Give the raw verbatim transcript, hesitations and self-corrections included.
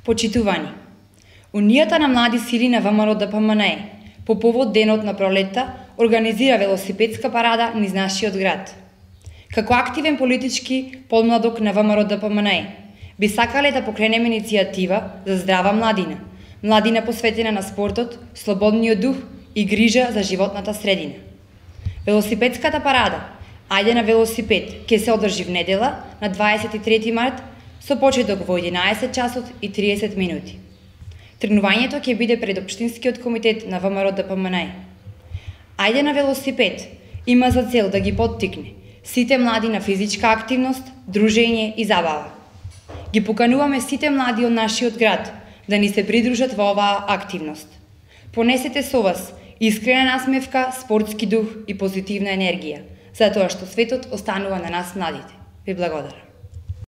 Почитувани, Унијата на млади сили на ВМРО Д П М Н Е по повод Денот на пролетта организира велосипедска парада низ нашиот град. Како активен политички подмладок на ВМРО Д П М Н Е, би сакале да покренеме иницијатива за здрава младина, младина посветена на спортот, слободниот дух и грижа за животната средина. Велосипедската парада Ајде на велосипед ќе се одржи в недела на дваесет и трети март со почеток во единаесет часот и триесет минути. Тренувањето ќе биде пред Општинскиот комитет на ВМРО Д П М Н Е. Ајде на велосипед има за цел да ги поттикне сите млади на физичка активност, дружење и забава. Ги покануваме сите млади од нашиот град да ни се придружат во оваа активност. Понесете со вас искрена насмевка, спортски дух и позитивна енергија, затоа што светот останува на нас младите. Ви благодарам.